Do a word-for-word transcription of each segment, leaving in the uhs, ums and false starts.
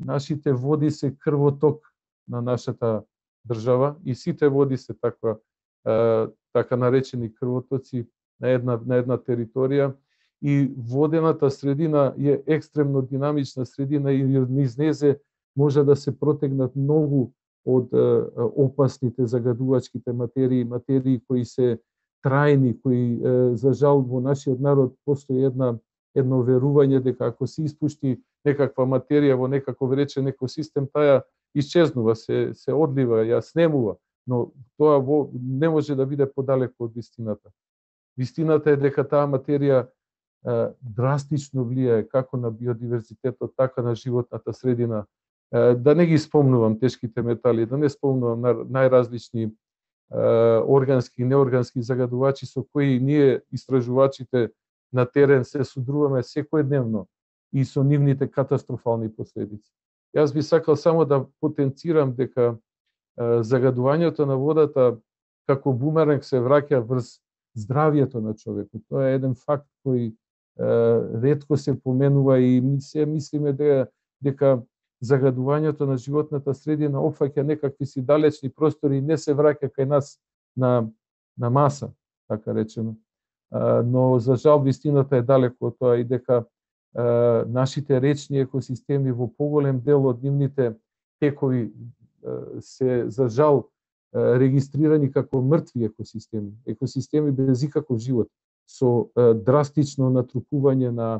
нашите води се крвоток на нашата држава и сите води се таква така наречени крвотоци на една на една територија и водената средина е екстремно динамична средина и низ незе може да се протегнат многу од опасните загадувачките материи, материи кои се трајни, кои за жал во нашиот народ постои една едно верување дека ако се испушти некаква материја во некаков речен екосистем, таа исчезнува, се се одлива, ја снемува, но тоа во, не може да биде подалеку од вистината. Вистината е дека таа материја е, драстично влијае како на биодиверзитетот, така на животната средина. Е, да не ги спомнувам тешките метали, да не спомнувам на најразлични е, органски и неоргански загадувачи со кои ние истражувачите на терен се судруваме секојдневно и со нивните катастрофални последици. Јас би сакал само да потенцирам дека е, загадувањето на водата како бумеранг се враќа врз здравјето на човекот. Тоа е еден факт кој е, ретко се поменува и ми се мислиме дека, дека загадувањето на животната средина опфаќа некакви си далечни простори и не се враќа кај нас на, на маса, така речено. Но за жал вистината е далеко од тоа и дека нашите речни екосистеми во поголем дел од нивните текови се за жал регистрирани како мртви екосистеми, екосистеми без никаков живот, со драстично натрупување на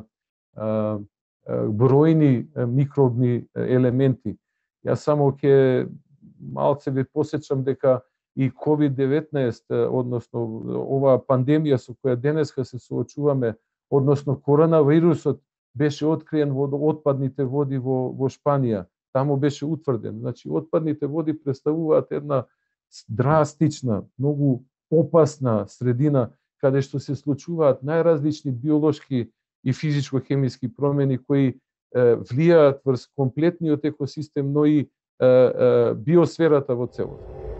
бројни микробни елементи. Јас само ќе малце ви посечам дека и ковид деветнаесет, односно оваа пандемија со која денеска се соочуваме, односно коронавирусот беше откриен во отпадните води во, во Шпанија. Таму беше утврден. Значи, отпадните води представуваат една драстична, многу опасна средина, каде што се случуваат најразлични биолошки и физичко-хемиски промени кои е, влијаат врз комплетниот екосистем, но и е, е, биосферата во целост.